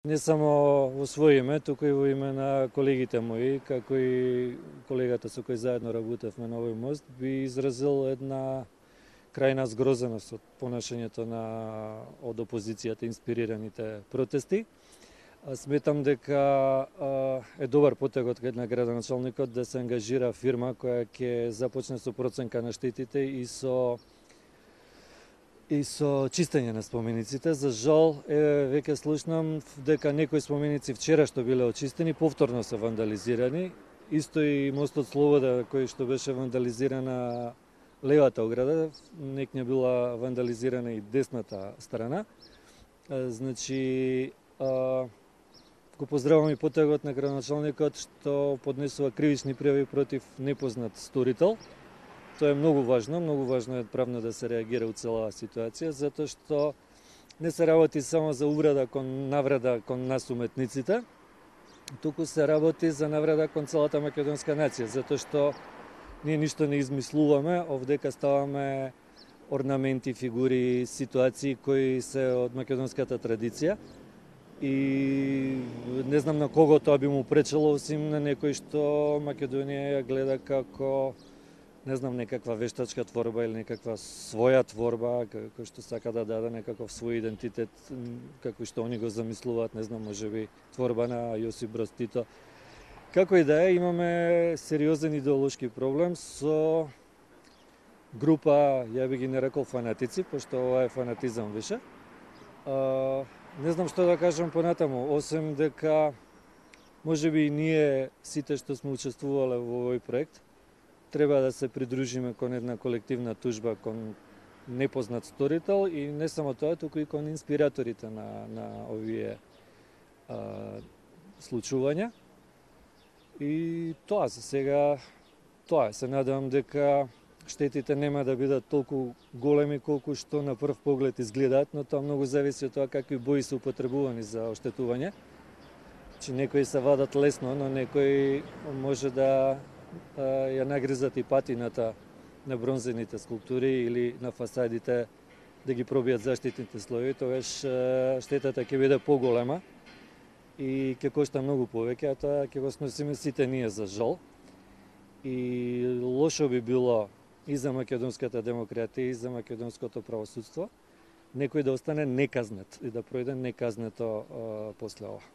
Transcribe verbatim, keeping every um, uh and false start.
Не само во своје име, туку и во име на колегите мои, како и колегата со кој заедно работевме на овој мост, би изразил една крајна згрозеност од понашањето на од опозицијата инспирираните протести. Сметам дека е добар потегот на градоначалникот да се ангажира фирма која ќе започне со проценка на штетите и со и со чистење на спомениците. За жал, е, веќе слушнам дека некои споменици вчера што биле очистени, повторно се вандализирани. Исто и мостот Слобода, кој што беше вандализирана левата ограда, некне била вандализирана и десната страна. Значи, а, го поздравам и потегот на градоначалникот што поднесува кривични пријави против непознат сторител. Тоа е многу важно, многу важно е правно да се реагира у целава ситуација, затоа што не се работи само за увреда кон навреда кон нас уметниците, туку се работи за навреда кон целата македонска нација, затоа што ние ништо не измислуваме, овдека ставаме орнаменти, фигури, ситуации кои се од македонската традиција и не знам на кого тоа би му пречело, осим на некој што Македонија ја гледа како не знам, некаква вештачка творба или некаква своја творба, кој што сака да даде некаков свој идентитет, како што они го замислуваат, не знам, можеби творба на Јосип Брз Тито. Како и да е, имаме сериозен идеолошки проблем со група, ја би ги нарекол фанатици, пошто ова е фанатизам више. А, не знам што да кажам понатаму, осем дека можеби и ние сите што сме учествувале во овој проект, треба да се придружиме кон една колективна тужба кон непознат сторител и не само тоа, туку и кон инспираторите на, на овие а, случувања. И тоа за сега, тоа се надевам дека штетите нема да бидат толку големи колку што на прв поглед изгледаат, но тоа многу зависи од тоа какви бои се употребувани за оштетување. Че некои се вадат лесно, но некои може да ја нагризат и патината на бронзените скулптури или на фасадите да ги пробијат заштитните слоеви, тогаш штетата ќе биде поголема и ќе кошта многу повеќе, а тоа ќе го сносиме сите ние за жал. И лошо би било и за македонската демократија и за македонското правосудство некој да остане неказнет и да пројде неказнето после ова.